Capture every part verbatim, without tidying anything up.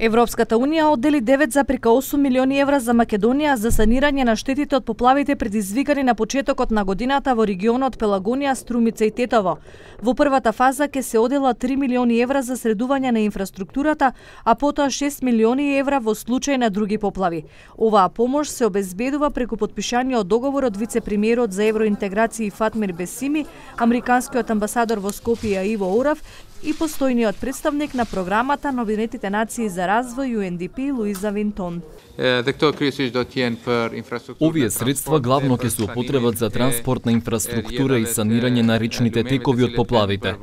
Европската унија оддели девет зарез осум милиони евра за Македонија за санирање на штетите од поплавите предизвикани на почетокот на годината во регионот Пелагонија, Струмица и Тетово. Во првата фаза ќе се одела три милиони евра за средување на инфраструктурата, а потоа шест милиони евра во случај на други поплави. Оваа помош се обезбедува преку потпишаниот договор од вице-премиерот за евроинтеграција Фатмир Бесими, американскиот амбасадор во Скопје Иво Орав и постојниот представник на програмата на Обединетите нации за развој Ю Ен Ди Пи Луиза Винтон. Овие средства главно ќе се употребат за транспортна инфраструктура и санирање на речните текови од поплавите.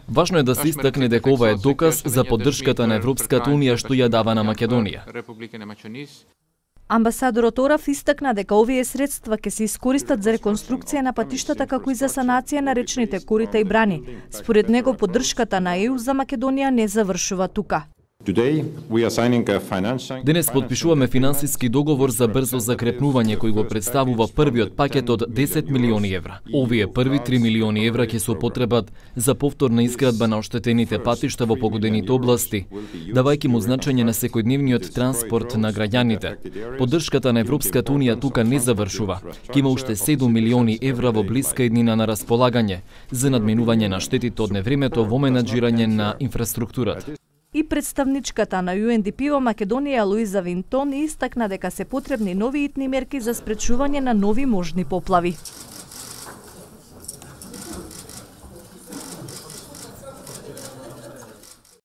Важно е да се истакне дека ова е доказ за поддршката на Европската унија што ја дава на Македонија. Амбасадорот Орав истакна дека овие средства ќе се искористат за реконструкција на патиштата како и за санација на речните корита и брани. Според него поддршката на Е Ю за Македонија не завршува тука. Денес подпишуваме финансиски договор за брзо закрепнување кој го представува првиот пакет од десет милиони евра. Овие први три милиони евра ќе се употребат за повторна изградба на оштетените патишта во погодените области, давајќи му значење на секојдневниот транспорт на граѓаните. Поддршката на Европската унија тука не завршува. Ќе има уште седум милиони евра во блиска иднина на располагање за надминување на штетите од невремето во менаџирање на инфраструктурата. И представничката на Ю Ен Ди Пи во Македонија Луиза Винтон истакна дека се потребни нови итни мерки за спречување на нови можни поплави.